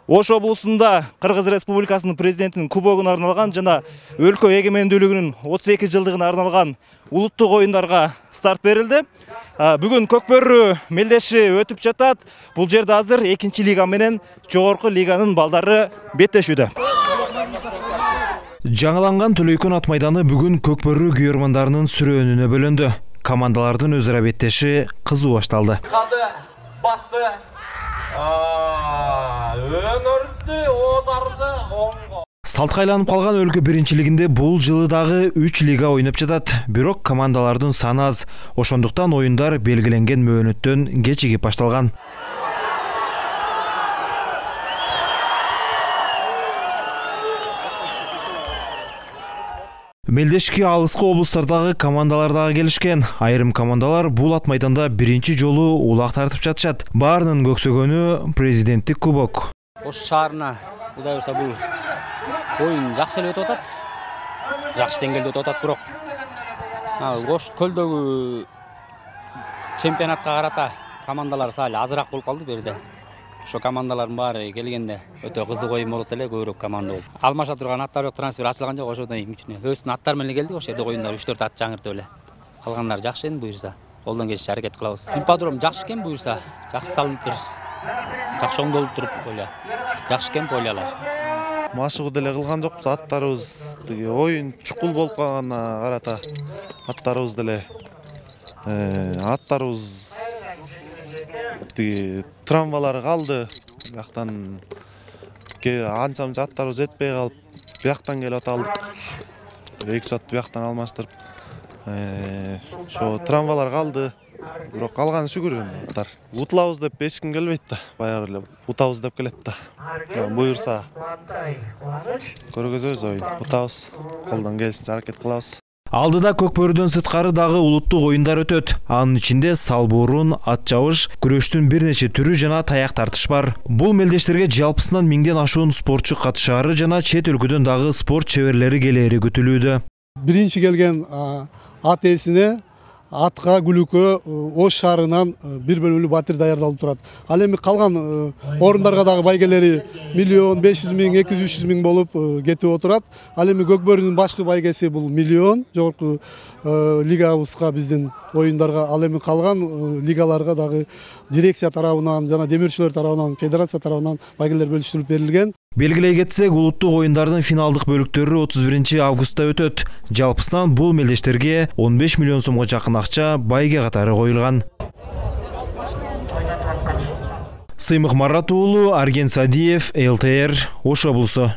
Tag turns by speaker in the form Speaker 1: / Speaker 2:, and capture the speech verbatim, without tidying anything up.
Speaker 1: Ош облусунда Кыргыз Республикасынын президентинин кубогуна арналган жана өлкө эгемендүүлүгүнүн отуз эки жылдыгына арналган улуттук оюндарга старт берилди. Бүгүн Көкбөрү мелдеши өтүп жатат. Бул жерде азыр экинчи лига менен жогорку лиганын балдары беттешүүдө. Жаңыланган Төлөйкөн ат майданы бүгүн Көкбөрү күйөрмандарынын сүрөөнүнө бөлөндү. Командалардын өзара беттеши кызуу башталды.
Speaker 2: Кады, басты. Өнөрдү, озарды, оңго.
Speaker 1: Салтка айланып калган өлкө биринчилигинде бул жылы дагы үч лига ойноп жатат. Бирок командалардын саны аз. Ошондуктан оюндар белгиленген мөөнөттөн кечигип башталган. Мелдешке алыскы облустардагы командалар дагы келишкен. Айрым командалар бул ат майданда биринчи жолу улак тартып жатышат. Баарынын көксөгөнү президенттик кубок.
Speaker 3: Ош шаарына Кудай буйрса бул оюн жакшы эле өтүп атат. Жакшы деңгээлде өтүп атат, бирок Ош көлдөгү чемпионатка карата командалар сал азыраак болуп калды берде. Ошо командалардын баары келгенде өтө кызык оюн болот эле, көбүрөөк команда болуп. Алмаша турган аттар жок, трансфер ачылган жок, ошодон кийин өзүнүн аттары менен келдик. Ошол жерде оюндар үч төрт ат жаңыртып эле. Калгандары жакшы эми буйрса. Колдон келишинче аракет кылабыз. Ипподром жакшы экен буйрса, жакшы салынып тур. Жакшы оңдолуп туруп ойла. Жакшы экен ойлалар.
Speaker 4: Машыгуу деле кылган жокпуз, аттарыбыз тиги оюн чукул болуп калганына карата аттарыбыз деле аттарыбыз тиги травмалары калды. Бияктан анча мынча аттарыбыз жетпей калып, бияктан келип аталдык. Эки жат бияктан алмаштырып, ошо травмалар калды. Бирок калганы шүгүр аттар. Утулабыз деп эч ким келбейт да, баягы эле утабыз деп келет да. Буйрса көргөзөбүз оюн, утабыз, колдон келишинче аракет кылабыз.
Speaker 1: Алдыда Көкбөрүдөн сырткары дагы улуттук оюндар өтөт. Анын ичинде салбуурун, ат жабыш, күрөштүн бир нече түрү жана таяк тартыш бар. Бул мелдештерге жалпысынан миңден ашуун спортчу катышаары жана чет өлкөдөн дагы спорт чеберлери келери күтүлүүдө.
Speaker 5: Биринчи келген ат ээсине атка күлүккө Ош шаарынан бир бөлмөлүү батир даярдалып турат. Ал эми калган орундарга дагы байгелери миллион беш жүз миң, эки жүз, үч жүз миң болуп кетип отурат. Ал эми Көкбөрүнүн башкы байгеси бул миллион, жогорку лигабызга, биздин оюндарга. Ал эми калган лигаларга дагы дирекция тарабынан жана демирчилер тарабынан, федерация тарабынан байгелер бөлүштүрүлүп берилген.
Speaker 1: Белгилей кетсек, улуттук оюндардын финалдык бөлүктөрү отуз биринчи августта өтөт. Жалпысынан бул мелдештерге он беш миллион сомго жакын акча байге катары коюлган. Сыймык Марат уулу, Арген Садиев, эл тэ эр, Ош облусу.